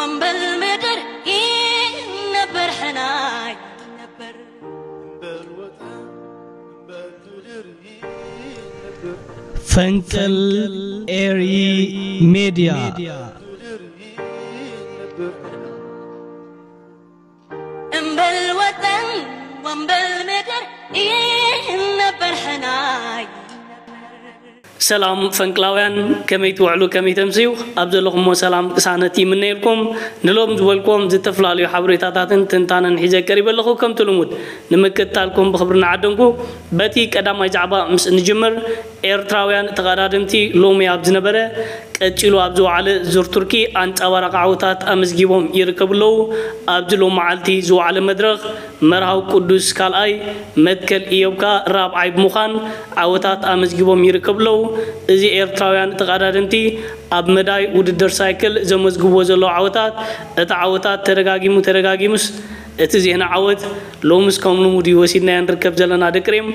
እምበል ምድር ይነበር ሕናይ ነበር። ፈንቅል ኤሪ ሜድያ። እምበል ወጠን ወእምበል ምድር ይነበር ሕናይ። ሰላም ፈንቅላውያን፣ ከመይ ትውዕሉ፣ ከመይ ተምስዩ? ኣብ ዘለኹሞ ሰላም ቅሳነት ይምነየልኩም። ንሎም ዝበልኩም ዝተፈላለዩ ሓበሬታታትን ትንታነን ሒዘ ቀሪበ ኣለኹ። ከምቲ ልሙድ ንምክትታልኩም ብኽብሪ እናዓደንኩ፣ በቲ ቀዳማይ ዛዕባ ምስ እንጅምር፣ ኤርትራውያን ተቐዳደምቲ ሎሚ ኣብ ዝነበረ ቀጺሉ ኣብ ዝወዓለ ዙር ቱርኪ ኣንጻባራቂ ዓወታት ኣመዝጊቦም ይርከቡ ኣለዉ። ኣብዚ ሎም መዓልቲ ዝወዓለ መድረኽ መርሃዊ ቅዱስ ካልኣይ፣ መትከል ኢዮብካ ራብዓይ ብምዃን ዓወታት ኣመዝጊቦም ይርከቡ ኣለዉ። እዚ ኤርትራውያን ተቐዳደምቲ ኣብ መዳይ ውድድር ሳይክል ዘመዝግብዎ ዘለዉ ዓወታት፣ እቲ ዓወታት ተደጋጊሙ ተደጋጊሙስ እቲ ዜና ዓወት ሎምስ ከም ልሙድ እዩ ወሲድናዮ ንርከብ ዘለና ደቂ ሬም።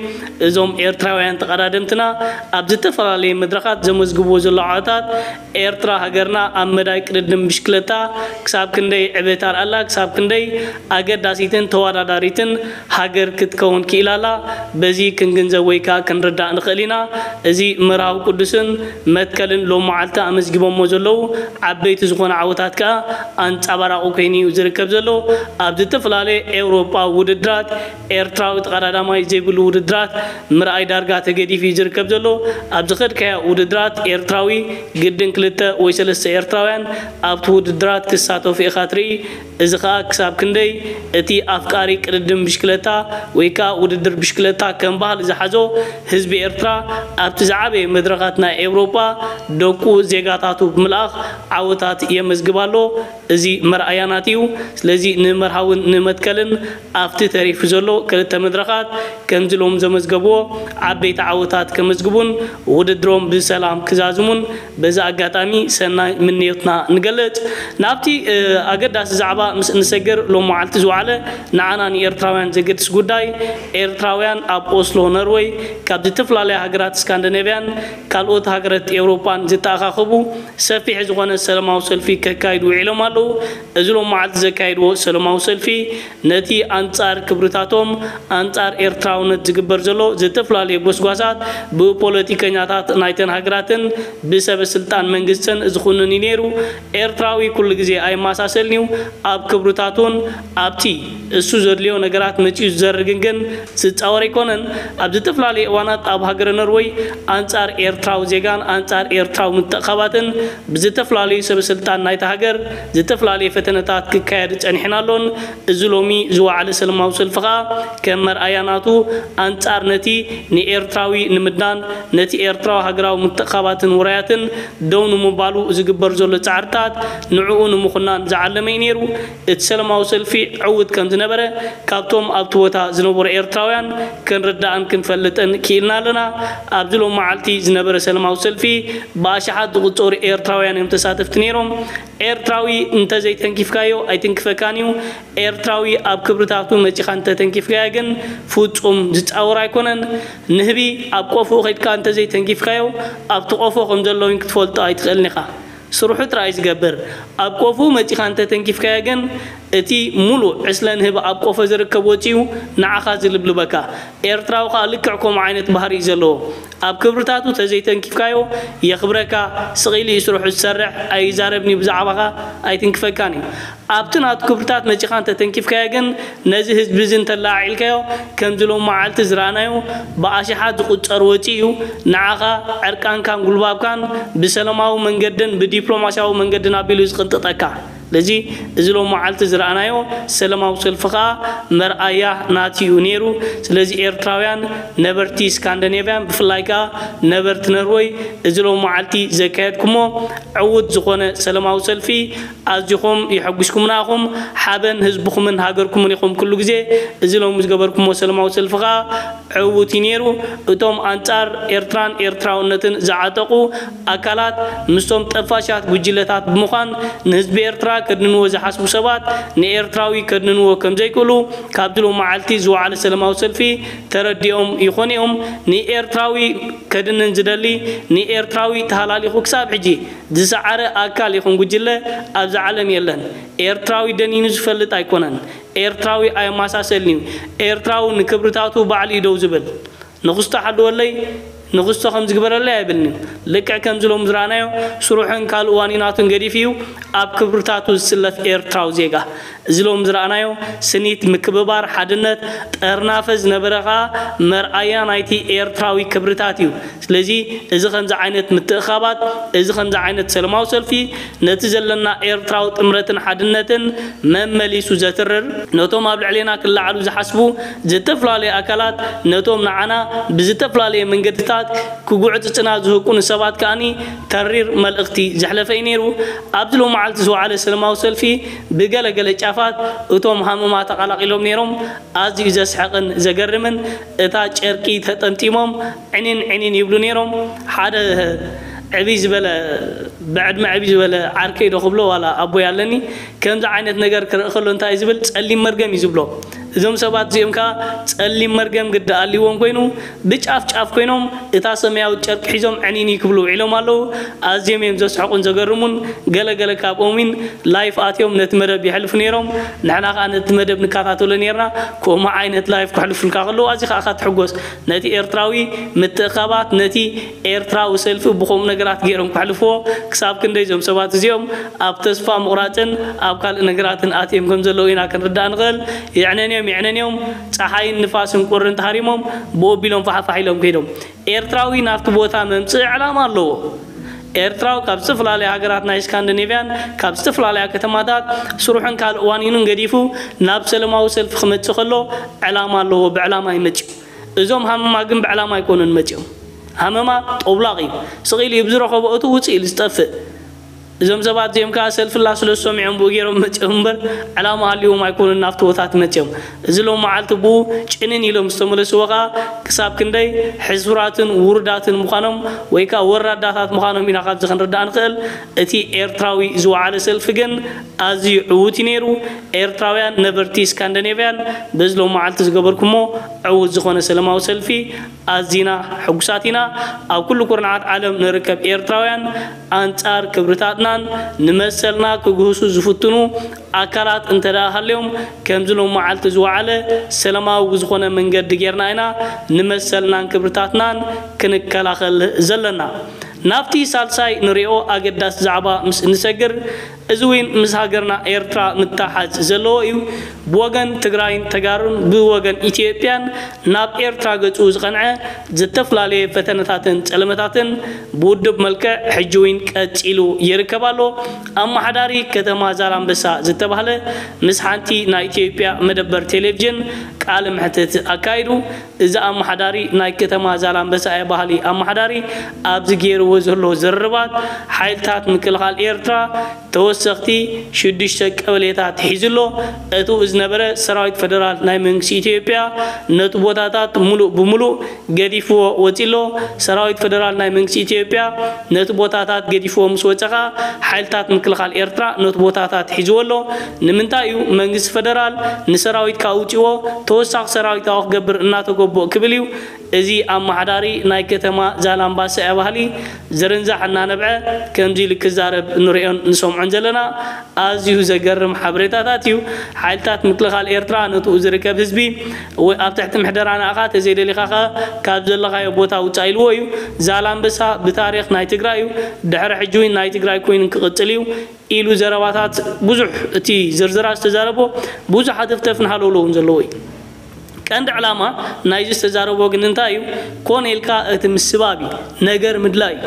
እዞም ኤርትራውያን ተቐዳደምትና ኣብ ዝተፈላለየ መድረኻት ዘመዝግብዎ ዘለዉ ዓወታት ኤርትራ ሃገርና ኣብ መዳይ ቅድድም ብሽክለታ ክሳብ ክንደይ ዕቤት ኣርኣላ፣ ክሳብ ክንደይ ኣገዳሲትን ተወዳዳሪትን ሃገር ክትከውን ክኢላላ በዚ ክንግንዘብ ወይ ከኣ ክንርዳእ ንኽእል ኢና። እዚ መርሃዊ ቅዱስን መትከልን ሎም መዓልቲ ኣመዝጊቦሞ ዘለዉ ዓበይቲ ዝኾነ ዓወታት ከኣ ኣንጻባራቑ ኮይኑ እዩ ዝርከብ ዘሎ። ኣብ ዝተፈላለየ ኤውሮጳ ውድድራት ኤርትራዊ ተቐዳዳማይ ዘይብሉ ውድድራት ምርኣይ ዳርጋ ተገዲፉ እዩ ዝርከብ ዘሎ። ኣብ ዝኸድካዮ ውድድራት ኤርትራዊ ግድን ክልተ ወይ ሰለስተ ኤርትራውያን ኣብቲ ውድድራት ክሳተፉ ኢኻ ትርኢ። እዚ ኸኣ ክሳብ ክንደይ እቲ ኣፍቃሪ ቅድድም ብሽክለታ ወይ ከኣ ውድድር ብሽክለታ ከም ባህሊ ዝሓዞ ህዝቢ ኤርትራ ኣብቲ ዝዓበየ መድረኻት ናይ ኤውሮጳ ደቁ ዜጋታቱ ብምልኣኽ ዓወታት የመዝግብ ኣሎ። እዚ መርኣያናት እዩ። ስለዚ ንመርሃውን ንመትከልን ኣብቲ ተሪፉ ዘሎ ክልተ መድረኻት ከምዚ ሎም ዘመዝገብዎ ዓበይቲ ዓወታት ከመዝግቡን ውድድሮም ብሰላም ክዛዝሙን በዚ ኣጋጣሚ ሰናይ ምንዮትና ንገልጽ። ናብቲ ኣገዳሲ ዛዕባ ምስ እንሰግር ሎም መዓልቲ ዝወዓለ ንዓና ንኤርትራውያን ዘገድስ ጉዳይ ኤርትራውያን ኣብ ኦስሎ ኖርወይ ካብ ዝተፈላለያ ሃገራት ስካንዲኔቭያን ካልኦት ሃገራት ኤውሮጳን ዝተኣኻኸቡ ሰፊሕ ዝኾነ ሰላማዊ ሰልፊ ከካይዱ ውዒሎም ኣለዉ። እዚ ሎም መዓልቲ ዘካየድዎ ሰላማዊ ሰልፊ ነቲ ኣንጻር ክብርታቶም ኣንጻር ኤርትራውነት ዝግበር ዘሎ ዝተፈላለየ ጎስጓሳት ብፖለቲከኛታት ናይተን ሃገራትን ብሰበ ስልጣን መንግስትን ዝኹንን እዩ ነይሩ። ኤርትራዊ ኩሉ ግዜ ኣይመሳሰልን እዩ። ኣብ ክብርታቱን ኣብቲ እሱ ዘድልዮ ነገራት መጺኡ ዝዘርግን ግን ዝጻወር ኣይኮነን። ኣብ ዝተፈላለዩ እዋናት ኣብ ሃገረ ኖርወይ ኣንጻር ኤርትራዊ ዜጋን ኣንጻር ኤርትራዊ ምትእኻባትን ብዝተፈላለዩ ሰበ ስልጣን ናይታ ሃገር ዝተፈላለየ ፈተነታት ክካየድ ጸኒሕን ኣሎን። እዚ ሎሚ ዝወዓለ ሰላማዊ ሰልፊ ከኣ ከም መርኣያ ናቱ ኣንጻር ነቲ ንኤርትራዊ ንምድናን ነቲ ኤርትራዊ ሃገራዊ ምትእኻባትን ውራያትን ደው ንምባሉ ዝግበር ዘሎ ጻዕርታት ንዕኡ ንምኹናን ዝዓለመ እዩ ነይሩ። እቲ ሰላማዊ ሰልፊ ዕዉት ከም ዝነበረ ካብቶም ኣብቲ ቦታ ዝነበሩ ኤርትራውያን ክንርዳእን ክንፈልጥን ክኢልና ኣለና። ኣብዚ ሎም መዓልቲ ዝነበረ ሰላማዊ ሰልፊ ብኣሽሓት ዝቑጸሩ ኤርትራውያን እዮም ተሳተፍቲ ነይሮም። ኤርትራዊ እንተዘይተንኪፍካዮ ኣይትንክፈካን እዩ። ኤርትራዊ ኣብ ክብርታቱ መጺኻ እንተተንኪፍካዮ ግን ፍጹም ዝጻወር ኣይኮነን። ንህቢ ኣብ ቆፎ ከድካ እንተዘይተንኪፍካዮ ኣብቲ ቆፎ ከም ዘሎ እውን ክትፈልጦ ኣይትኽእልን ኢኻ። ስርሑ ጥራይ ዝገብር። ኣብ ቆፎ መጺኻ እንተተንኪፍካዮ ግን እቲ ሙሉእ ዕስለ ንህቢ ኣብ ቆፎ ዝርከብ ወጺኡ ንዓኻ ዝልብልበካ። ኤርትራዊ ከኣ ልክዕ ከምኡ ዓይነት ባህሪ እዩ ዘለዎ። ኣብ ክብርታቱ ተዘይተንኪፍካዮ የኽብረካ፣ ስቕ ኢሉ እዩ ስርሑ ዝሰርሕ፣ ኣይዛረብን እዩ ብዛዕባኻ፣ ኣይትንክፈካን እዩ። ኣብቲ ናቱ ክብርታት መጺኻ እንተተንኪፍካዮ ግን ነዚ ህዝቢ እዚ እንተለዓዒልካዮ ከምዚ ሎም መዓልቲ ዝረኣናዮ ብኣሽሓት ዝቑጸር ወጺኡ እዩ ንዓኻ ዕርቃንካን ጉልባብካን ብሰላማዊ መንገድን ብዲፕሎማስያዊ መንገድን ኣቢሉ ዝቕንጥጠካ። ስለዚ እዚ ሎም መዓልቲ ዝረኣናዮ ሰላማዊ ሰልፊ ከኣ መርኣያ ናቲ እዩ ነይሩ። ስለዚ ኤርትራውያን ነበርቲ ስካንዲኔቭያን ብፍላይ ከኣ ነበርቲ ነርወይ እዚ ሎም መዓልቲ ዘካየድኩሞ ዕዉት ዝኾነ ሰላማዊ ሰልፊ ኣዚኹም የሐጉስኩምና ኢኹም። ሓበን ህዝብኹምን ሃገርኩምን ኢኹም ኩሉ ግዜ። እዚ ሎም ዝገበርኩሞ ሰላማዊ ሰልፊ ከኣ ዕዉት እዩ ነይሩ። እቶም ኣንጻር ኤርትራን ኤርትራውነትን ዝዓጠቑ ኣካላት ምስቶም ጠፋሻት ጉጅለታት ብምዃን ንህዝቢ ኤርትራ ከድንንዎ ዝሓስቡ ሰባት ንኤርትራዊ ከድንንዎ ከም ዘይክእሉ ካብዚ ሎመዓልቲ ዝወዓለ ሰላማዊ ሰልፊ ተረዲኦም ይኾኑ እዮም። ንኤርትራዊ ከድንን ዝደሊ፣ ንኤርትራዊ ተሃላሊኹ ክሳብ ሕጂ ዝሰዓረ ኣካል ይኹን ጉጅለ ኣብዚ ዓለም የለን። ኤርትራዊ ደኒኑ ዝፈልጥ ኣይኮነን። ኤርትራዊ ኣየመሳሰልን እዩ። ኤርትራዊ ንክብርታቱ ባዕሉ እዩ ደው ዝብል። ንኽስቶ ሓልወለይ፣ ንኽስቶ ከም ዝግበረለይ ኣይብልን እዩ። ልክዕ ከምዚ ሎም ዝረኣናዮ ስሩሕን ካልእ ዋኒናቱን ገዲፉ እዩ ኣብ ክብርታቱ ዝስለፍ ኤርትራዊ ዜጋ። እዚ ሎም ዝረኣናዮ ስኒት፣ ምክብባር፣ ሓድነት፣ ጠርናፈ ዝነበረ ኸኣ መርኣያ ናይቲ ኤርትራዊ ክብርታት እዩ። ስለዚ እዚ ከምዚ ዓይነት ምትእኻባት፣ እዚ ከምዚ ዓይነት ሰላማዊ ሰልፊ ነቲ ዘለና ኤርትራዊ ጥምረትን ሓድነትን መመሊሱ ዘትርር፣ ነቶም ኣብ ልዕሌና ክለዓሉ ዝሓስቡ ዝተፈላለዩ ኣካላት፣ ነቶም ንዓና ብዝተፈላለየ መንገድታት ክጉዕጽጽና ዝህቁኑ ሰባት ከኣኒ ተሪር መልእኽቲ ዘሕለፈ እዩ ነይሩ። ኣብዚ ሎመዓልቲ ዝወዓለ ሰላማዊ ሰልፊ ብገለገለ ጫፋት እቶም ሃመማ ተቐላቒሎም ነይሮም። ኣዝዩ ዘስሕቕን ዘገርምን፣ እታ ጨርቂ ተጠምጢሞም ዕኒን ዕኒን ይብሉ ነይሮም። ሓደ ዕብይ ዝበለ፣ ብዕድመ ዕብይ ዝበለ ዓርከይ ዶ ክብሎ ዋላ ኣቦይ ኣለኒ፣ ከምዚ ዓይነት ነገር ክርኢ ከሎ እንታይ እዩ ዝብል? ጸሊም መርገም እዩ ዝብሎ። እዞም ሰባት እዚኦም ከኣ ጸሊም መርገም ግዲ ኣልይዎም ኮይኑ ብጫፍ ጫፍ ኮይኖም እታ ሰማያዊት ጨርቂ ሒዞም ዕኒን ክብሉ ውዒሎም ኣለዉ። ኣዝዮም እዮም ዘስሕቑን ዘገርሙን። ገለ ገለ ካብኦም እውን ላይፍ ኣትዮም ነቲ መደብ የሕልፉ ነይሮም። ንሕና ከኣ ነቲ መደብ ንከታተሎ ነይርና። ከምኡ ዓይነት ላይፍ ከሕልፉልካ ከለዉ ኣዚኻ ኢኻ ትሕጎስ። ነቲ ኤርትራዊ ምትእኻባት፣ ነቲ ኤርትራዊ ሰልፊ ብኸምኡ ነገራት ገይሮም ከሕልፍዎ። ክሳብ ክንደይ እዞም ሰባት እዚኦም ኣብ ተስፋ ምቑራጽን ኣብ ካልእ ነገራትን ኣትዮም ከም ዘለዉ ኢና ክንርዳእ ንኽእል። የዕነንዮም፣ የዕነንዮም፣ ጸሓይን ንፋስን ቁርን ተሃሪሞም ብኡ ኣቢሎም ፋሕፋሕ ኢሎም ከይዶም። ኤርትራዊ ናብቲ ቦታ መምጽኢ ዕላማ ኣለዎ። ኤርትራዊ ካብ ዝተፈላለያ ሃገራት ናይ ስካንዲኔቭያን ካብ ዝተፈላለያ ከተማታት ስሩሕን ካልእ ዋኒኑን ገዲፉ ናብ ሰላማዊ ሰልፊ ክመጽእ ከሎ ዕላማ ኣለዎ። ብዕላማ እዩ መጺኡ። እዞም ሃመማ ግን ብዕላማ ኣይኮኑን መጺኦም። ሃመማ ጠውላቕ እዩ። ስቕ ኢሉ እዩ ብዝረኸቦ እቱ ውጽእ ኢሉ ዝጠፍእ። እዞም ሰባት እዚኦም ከኣ ሰልፍላ ስለ ዝሰሚዖም ብኡ ገይሮም መጺኦም እምበር ዕላማ ሃልይዎም ኣይኮኑን ናብቲ ቦታ መጺኦም። እዚ ሎም መዓልቲ ብኡ ጭንን ኢሎም ዝተመለስዎ ከኣ ክሳብ ክንደይ ሕሱራትን ውሩዳትን ምዃኖም ወይ ከኣ ወራዳታት ምዃኖም ኢና ካብዚ ክንርዳእ ንኽእል። እቲ ኤርትራዊ ዝወዓለ ሰልፊ ግን ኣዝዩ ዕዉት እዩ ነይሩ። ኤርትራውያን ነበርቲ ስካንዲኔቭያን በዚ ሎም መዓልቲ ዝገበርኩሞ ዕዉት ዝኾነ ሰላማዊ ሰልፊ ኣዚና ሕጉሳት ኢና። ኣብ ኩሉ ኩርናዓት ዓለም ንርከብ ኤርትራውያን ኣንጻር ክብርታትናን ንመሰልና ክግህሱ ዝፍትኑ ኣካላት እንተ ደኣ ሃልዮም፣ ከምዚ ሎም መዓልቲ ዝወዓለ ሰላማዊ ብዝኾነ መንገዲ ጌርና ኢና ንመሰልናን ክብርታትናን ክንከላኸል ዘለና። ናብቲ ሳልሳይ ንሪኦ ኣገዳሲ ዛዕባ ምስ እንሰግር፣ እዚ እውን ምስ ሃገርና ኤርትራ ምትሓዝ ዘለዎ እዩ። ብወገን ትግራይን ተጋሩን ብወገን ኢትዮጵያን ናብ ኤርትራ ገጹ ዝቐንዐ ዝተፈላለየ ፈተነታትን ጸለመታትን ብውድብ መልክዕ ሕጂ እውን ቀጺሉ ይርከብ ኣሎ። ኣመሓዳሪ ከተማ ዛላምበሳ ዝተባህለ ምስ ሓንቲ ናይ ኢትዮጵያ መደበር ቴሌቪዥን ቃለ መሕትት ኣካይዱ። እዚ ኣመሓዳሪ ናይ ከተማ ዛላምበሳ እየ በሃሊ ኣመሓዳሪ ኣብዚ ገይርዎ ዘሎ ዝርርባት ሓይልታት ምክልኻል ኤርትራ ተወሰኽቲ ሽዱሽተ ቀበሌታት ሒዙ ኣሎ። እቱ ዝነበረ ሰራዊት ፈደራል ናይ መንግስቲ ኢትዮጵያ ነቲ ቦታታት ሙሉእ ብሙሉእ ገዲፍዎ ወፂ ኣሎ። ሰራዊት ፈደራል ናይ መንግስቲ ኢትዮጵያ ነቲ ቦታታት ገዲፍዎ ምስ ወፀ ኸዓ ሓይልታት ምክልኻል ኤርትራ ነቲ ቦታታት ሒዝዎ ኣሎ። ንምንታይ እዩ መንግስቲ ፈደራል ንሰራዊት ካውፅዎ ተወሳኺ ሰራዊት ኣዋ ክገብር እናተገቦ ክብል እዩ። እዚ ኣመሓዳሪ ናይ ከተማ ዛላምባሳ እያ ባህሊ ዝርንዛሕ እናነብዐ ከምዚ ኢሉ ክዛረብ ንሪኦን ንሰምዖን ዘለና ኣዝዩ ዘገርም ሓበሬታታት እዩ። ሓይልታት ምክልኻል ኤርትራ ነትኡ ዝርከብ ህዝቢ ወይ ኣብ ትሕቲ ምሕደራ ንኣኻ ተዘይደሊኻ ኸ ካብ ዘለኻዮ ቦታ ውፃእ ኢልዎ እዩ። ዛላምበሳ ብታሪኽ ናይ ትግራይ እዩ። ድሕሪ ሕጂ እውን ናይ ትግራይ ኮይኑ ክቕፅል እዩ ኢሉ ዘረባታት ብዙሕ እቲ ዝርዝራ ዝተዛረቦ ብዙሕ ሃተፍተፍን ሃለውለውን ዘለዎ እዩ። ቀንዲ ዕላማ ናይዚ ዝተዛረቦ ግን እንታይ እዩ? ኮነ ኢልካ እቲ ምስባብ እዩ፣ ነገር ምድላይ እዩ፣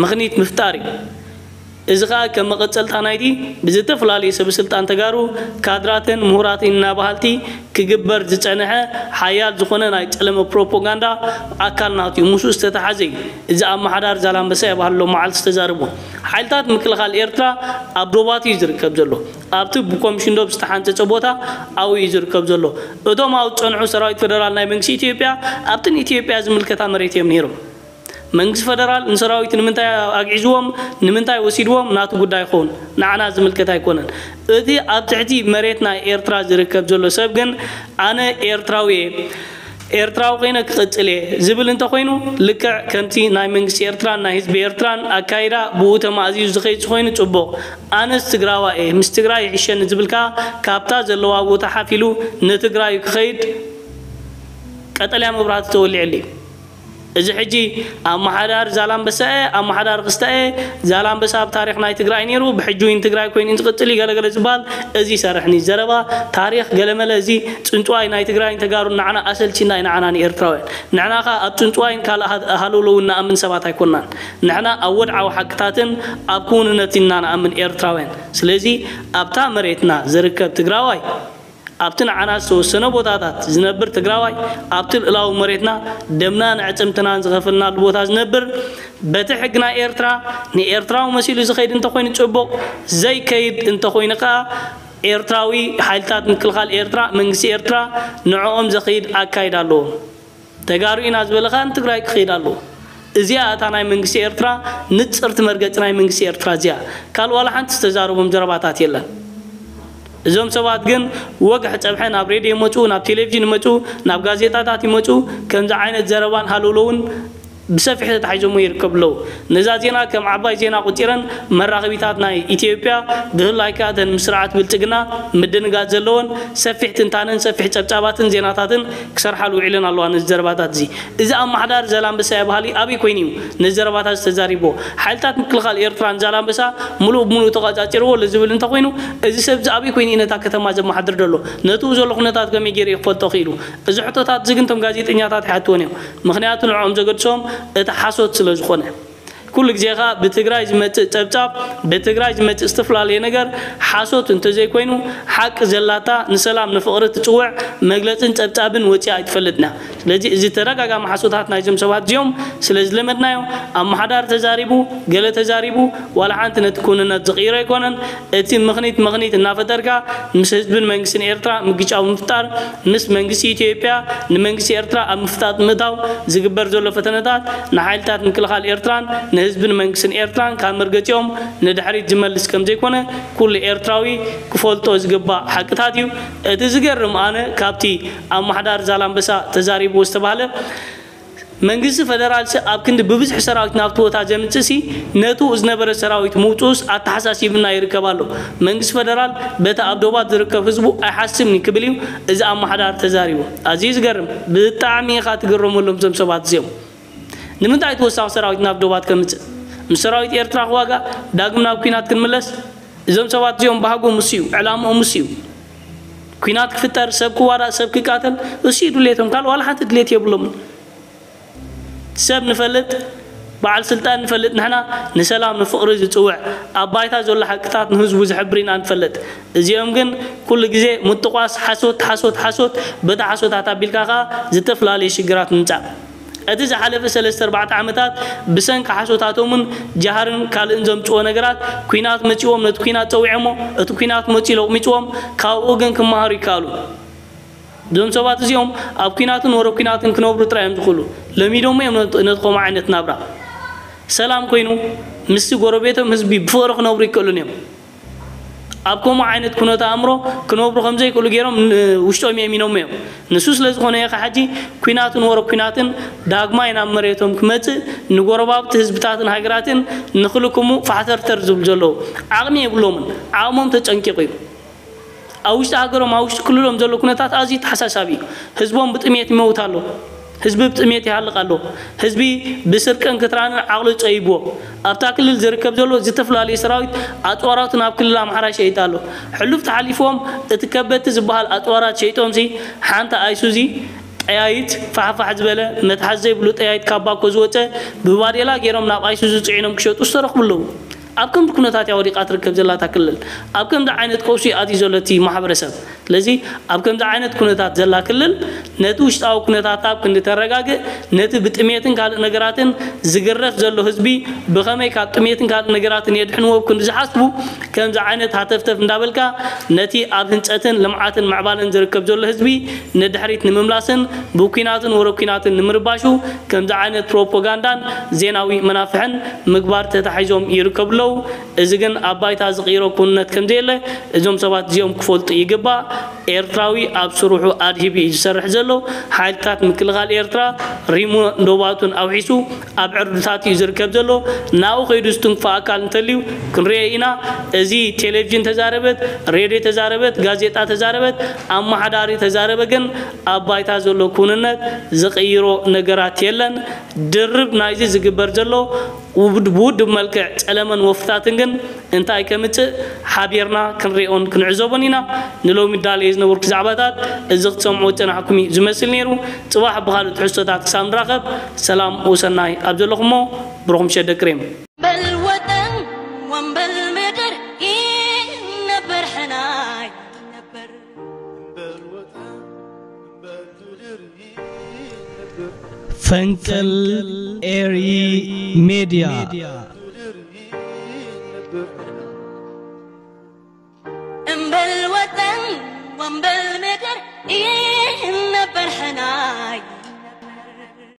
ምኽኒት ምፍጣር እዩ። እዚ ኸኣ ከም መቐጸልታ ናይቲ ብዝተፈላለዩ ሰብ ስልጣን ተጋሩ፣ ካድራትን ምሁራትን ኢና በሃልቲ ክግበር ዝጸንሐ ሓያል ዝኾነ ናይ ጸለመ ፕሮፓጋንዳ ኣካል ናቱ እዩ። ምስኡ ዝተተሓዘ እዩ። እዚ ኣመሓዳሪ ዛላምበሳ እየ በሃሊ ሎም መዓልቲ ዝተዛረቦ። ሓይልታት ምክልኻል ኤርትራ ኣብ ዶባት እዩ ዝርከብ ዘሎ። ኣብቲ ብኮሚሽን ዶብ ዝተሓንጸጸ ቦታ ኣብኡ እዩ ዝርከብ ዘሎ። እቶም ኣብኡ ዝጸንሑ ሰራዊት ፈደራል ናይ መንግስቲ ኢትዮጵያ ኣብቲ ንኢትዮጵያ ዝምልከታ መሬት እዮም ነይሮም። መንግስቲ ፈደራል ንሰራዊት ንምንታይ ኣግዒዝዎም፣ ንምንታይ ወሲድዎም ናቱ ጉዳይ ይኸውን፣ ንዓና ዝምልከት ኣይኮነን። እቲ ኣብ ትሕቲ መሬት ናይ ኤርትራ ዝርከብ ዘሎ ሰብ ግን ኣነ ኤርትራዊ እየ፣ ኤርትራዊ ኮይነ ክቕጽል እየ ዝብል እንተኾይኑ፣ ልክዕ ከምቲ ናይ መንግስቲ ኤርትራን ናይ ህዝቢ ኤርትራን ኣካይዳ ብኡ ተማእዚዙ ዝኸይድ ዝኾይኑ ጽቡቕ። ኣነስ ትግራዋይ እየ፣ ምስ ትግራይ ይሕሸኒ ዝብል ከኣ ካብታ ዘለዋ ቦታ ሓፍ ኢሉ ንትግራዩ ክኸይድ ቀጠልያ መብራህቲ ተወሊዕሉ እዩ። እዚ ሕጂ ኣመሓዳሪ ዛላምበሳ እየ፣ ኣመሓዳሪ ክስታ እየ፣ ዛላምበሳ ኣብ ታሪኽ ናይ ትግራይ ነይሩ፣ ብሕጂ እውን ትግራይ ኮይኑ ዝቕጽል እዩ፣ ገለገለ ዝበሃል እዚ ይሰርሕኒ። ዘረባ ታሪኽ ገለመለ፣ እዚ ጽንጽዋይ ናይ ትግራይን ተጋሩን ንዓና ኣሰልቺና እዩ፣ ንዓና ንኤርትራውያን። ንሕና ኸኣ ኣብ ጽንጽዋይን ካልእ ሃ-፣ ሃለውለውን ንኣምን ሰባት ኣይኮናን። ንሕና ኣብ ወድዓዊ ሓቅታትን ኣብ ክውንነትን ኢና ንኣምን ኤርትራውያን። ስለዚ ኣብታ መሬትና ዝርከብ ትግራዋይ፣ ኣብቲ ንዓና ዝተወሰነ ቦታታት ዝነብር ትግራዋይ፣ ኣብቲ ልእላዊ መሬትና ደምናን ኣዕጽምትናን ዝኸፈልናሉ ቦታ ዝነብር፣ በቲ ሕጊ ናይ ኤርትራ ንኤርትራዊ መሲሉ ዝኸይድ እንተኾይኑ ጽቡቕ፣ ዘይከይድ እንተኾይኑ ከኣ ኤርትራዊ፣ ሓይልታት ምክልኻል ኤርትራ፣ መንግስቲ ኤርትራ ንዕኦም ዘኽይድ ኣካይዳ ኣለዎ። ተጋሩ ኢና ዝበለ ከኣ ንትግራይ ክኸይድ ኣለዎ። እዚኣ እታ ናይ መንግስቲ ኤርትራ ንጽርቲ መርገጺ ናይ መንግስቲ ኤርትራ እዚኣ። ካልእ ዋላ ሓንቲ ዝተዛረቦም ዘረባታት የለን። እዞም ሰባት ግን ወግሒ ጸብሐ ናብ ሬድዮ ይመጹ፣ ናብ ቴሌቪዥን ይመጹ፣ ናብ ጋዜጣታት ይመጹ። ከምዚ ዓይነት ዘረባን ሃለውለውን ብሰፊሕ ተታሒዞሞ ይርከቡ ኣለዉ። ነዛ ዜና ከም ዓባይ ዜና ቆጺረን መራኸቢታት ናይ ኢትዮጵያ፣ ብፍላይ ከኣ እተን ምስ ስርዓት ብልጽግና ምድንጋጽ ዘለወን፣ ሰፊሕ ትንታነን ሰፊሕ ጸብጻባትን ዜናታትን ክሰርሓሉ ውዒለን ኣለዋ። ነዚ ዘረባታት እዚ፣ እዚ ኣመሓዳሪ ዛላምበሳ እየ በሃሊ ኣበይ ኮይኑ እዩ ነዚ ዘረባታት እዚ ተዛሪብዎ? ሓይልታት ምክልኻል ኤርትራ ንዛላምበሳ ምሉእ ብምሉእ ተቖጻጺርዎ ኣሎ ዝብል እንተኾይኑ፣ እዚ ሰብ እዚ ኣበይ ኮይኑ እዩ ነታ ከተማ ዘመሓድር ዘሎ? ነትኡ ዘሎ ኩነታት ከመይ ገይሩ እዩ ክፈልጦ ክኢሉ? እዚ ሕቶታት እዚ ግን እቶም ጋዜጠኛታት ኣይሓትዎን እዮም። ምኽንያቱ ንዕኦም ዘገድሶም እቲ ሓሶት ስለ ዝኾነ። ኩሉ ግዜ ኸኣ ብትግራይ ዝመጽእ ጸብጻብ፣ ብትግራይ ዝመጽእ ዝተፈላለየ ነገር ሓሶት እንተዘይኮይኑ፣ ሓቂ ዘላታ ንሰላም ንፍቕሪ ትጽውዕ መግለጽን ጸብጻብን ወጺኣ ኣይትፈልጥን እያ። ስለዚ እዚ ተደጋጋሚ ሓሶታት ናይዞም ሰባት እዚኦም ስለ ዝለመድናዮ፣ ኣመሓዳሪ ተዛሪቡ፣ ገለ ተዛሪቡ፣ ዋላ ሓንቲ ነቲ ክውንነት ዝቕይሮ ኣይኮነን። እቲ ምኽኒት ምኽኒት እናፈጠርካ ምስ ህዝብን መንግስትን ኤርትራ ምግጫው ምፍጣር፣ ምስ መንግስቲ ኢትዮጵያ ንመንግስቲ ኤርትራ ኣብ ምፍጣጥ ምእታው ዝግበር ዘሎ ፈተነታት ንሓይልታት ምክልኻል ኤርትራን ንህዝብን መንግስትን ኤርትራን ካብ መርገጺኦም ንድሕሪት ዝመልስ ከም ዘይኮነ ኩሉ ኤርትራዊ ክፈልጦ ዝግባእ ሓቅታት እዩ። እቲ ዝገርም ኣነ ካብቲ ኣመሓዳሪ ዛላምበሳ ተዛሪብዎ ዝተባህለ መንግስቲ ፈደራልሲ ኣብ ክንዲ ብብዝሒ ሰራዊት ናብቲ ቦታ ዘምጽእሲ ነቱ ዝነበረ ሰራዊት ምውጽኡስ ኣተሓሳሲብና ይርከብ ኣሎ። መንግስቲ ፈደራል በቲ ኣብ ዶባት ዝርከብ ህዝቡ ኣይሓስብን እዩ ክብል እዩ እዚ ኣመሓዳሪ ተዛሪቡ። ኣዝዩ ዝገርም። ብጣዕሚ ኢኻ ትግረመሎም እዞም ሰባት እዚኦም። ንምንታይ ተወሳኺ ሰራዊት ናብ ዶባት ከምጽእ? ምስ ሰራዊት ኤርትራ ክዋጋእ ዳግም ናብ ኲናት ክንምለስ? እዞም ሰባት እዚኦም ባህጎም እሱ እዩ፣ ዕላምኦም እሱ እዩ። ኲናት ክፍጠር፣ ሰብ ክዋዳእ፣ ሰብ ክቃተል እሱ እዩ ድሌቶም። ካልእ ዋላ ሓንቲ ድሌት የብሎምን። ሰብ ንፈልጥ፣ በዓል ስልጣን ንፈልጥ፣ ንሕና ንሰላም ንፍቕሪ ዝጽውዕ ኣብ ባይታ ዘሎ ሓቅታት ንህዝቡ ዝሕብር ኢና ንፈልጥ። እዚኦም ግን ኩሉ ግዜ ምጥቋስ፣ ሓሶት፣ ሓሶት፣ ሓሶት፣ በታ ሓሶታት ኣቢልካ ከኣ ዝተፈላለዩ ሽግራት ምምጻእ። እቲ ዝሓለፈ ሰለስተ ኣርባዕተ ዓመታት ብሰንኪ ሓሶታቶምን ጃህርን ካልእን ዘምጽዎ ነገራት ኲናት መጺዎም ነቲ ኲናት ጸዊዖሞ፣ እቲ ኲናት መጺኡ ለቑሚጽዎም፣ ካብኡ ግን ክመሃሩ ይከኣሉ። እዞም ሰባት እዚኦም ኣብ ኲናትን ወረ ኲናትን ክነብሩ ጥራይ እዮም ዝኽእሉ። ለሚዶሞ እዮም ነቲ፣ ነቲ ከምኡ ዓይነት ናብራ። ሰላም ኮይኑ ምስቲ ጎረቤቶም ህዝቢ ብፍቕሪ ክነብሩ ይክእሉን እዮም። ኣብ ከምኡ ዓይነት ኩነተ ኣእምሮ ክነብሩ ከም ዘይክእሉ ገይሮም ን-፣ ውሽጦም የእሚኖሞ እዮም። ንሱ ስለ ዝኾነ እየ ኸዓ ሕጂ ኲናትን ወረ ኲናትን ዳግማይ ናብ መሬቶም ክመጽእ ንጎረባብቲ ህዝብታትን ሃገራትን ንኽልክሙ ፋሕተርተር ዝብሉ ዘለዉ። ዓቕሚ የብሎምን። ዓቕሞም ተጨንቂቑ እዩ። ኣብ ውሽጢ ሃገሮም፣ ኣብ ውሽጢ ክልሎም ዘሎ ኩነታት ኣዝዩ ተሓሳሳቢ እዩ። ህዝቦም ብጥሜት ይመውት ኣሎ። ህዝቢ ብጥሜት ይሃልቕ ኣሎ። ህዝቢ ብስርቅን ክትራንን ዓቕሉ ጸይብዎ። ኣብታ ክልል ዝርከብ ዘሎ ዝተፈላለዩ ሰራዊት ኣጽዋራቱ ናብ ክልል ኣምሓራ ይሸይጥ ኣሎ። ሕሉፍ ተሓሊፍዎም እቲ ከበድቲ ዝበሃል ኣጽዋራት ሸይጦምሲ ሓንቲ ኣይሱዚ ጠያይት ፋሕፋሕ ዝበለ መትሓዚ ዘይብሉ ጠያይት ካብ ባኮ ዝወጸ ብባዴላ ገይሮም ናብ ኣይሱዚ ጽዒኖም ክሸጡ ዝተረኽቡ ኣለዉ። ኣብ ከምዚ ኩነታት እያ ወዲቓ ትርከብ ዘላ እታ ክልል። ኣብ ከምዚ ዓይነት ቀውሲ ኣትዩ ዘሎ እቲ ማሕበረሰብ። ስለዚ ኣብ ከምዚ ዓይነት ኩነታት ዘላ ክልል ነቲ ውሽጣዊ ኩነታታ ኣብ ክንዲ ተረጋግእ፣ ነቲ ብጥሜትን ካልእ ነገራትን ዝግረፍ ዘሎ ህዝቢ ብኸመይ ካብ ጥሜትን ካልእ ነገራትን የድሕንዎ ኣብ ክንዲ ዝሓስቡ፣ ከምዚ ዓይነት ሃተፍተፍ እንዳበልካ ነቲ ኣብ ህንፀትን ልምዓትን ምዕባለን ዝርከብ ዘሎ ህዝቢ ንድሕሪት ንምምላስን ብኩናትን ወረ ኩናትን ንምርባሹ ከምዚ ዓይነት ፕሮፓጋንዳን ዜናዊ መናፍሕን ምግባር ተታሒዞም ይርከቡ ኣለዉ። እዚ ግን ኣብ ባይታ ዝቕይሮ ክውንነት ከም ዘየለ እዞም ሰባት እዚኦም ክፈልጡ ይግባእ። ኤርትራዊ ኣብ ስርሑ ኣድሂቡ እዩ ዝሰርሕ ዘሎ። ሓይልታት ምክልኻል ኤርትራ ሪሞ ዶባቱን ኣውሒሱ ኣብ ዕርድታት እዩ ዝርከብ ዘሎ። ናብኡ ከይዱ ዝትንክፎ ኣካል እንተልዩ ክንሪኦ ኢና። እዚ ቴሌቪዥን ተዛረበት፣ ሬድዮ ተዛረበት፣ ጋዜጣ ተዛረበት፣ ኣመሓዳሪ ተዛረበ ግን ኣብ ባይታ ዘሎ ኩንነት ዝቕይሮ ነገራት የለን። ድርብ ናይዚ ዝግበር ዘሎ ውድ-፣ ብውድብ መልክዕ ጸለመን ወፍታትን ግን እንታይ ከምጽእ ሓቢርና ክንሪኦን ክንዕዘቦን ኢና። ንሎሚ ዳለየ ዝነበርኩ ዛዕባታት እዚ ክትሰምዑ ዝጸናሕኩም እዩ ዝመስል ነይሩ። ጽባሕ ብኻልእ ትሕዝቶታት ክሳብ ንራኸብ ሰላም ወሰናይ ኣብ ዘለኹሞ ብሩኽ ምሸት ደቂ ሬም። በል ወጠን ወንበል ምድር ይነበር ሕናይ ነበር። ፈንቅል ኤሪ ሜድያ። እምበል ወጠን ወንበል ምድር ይነበር ሕናይ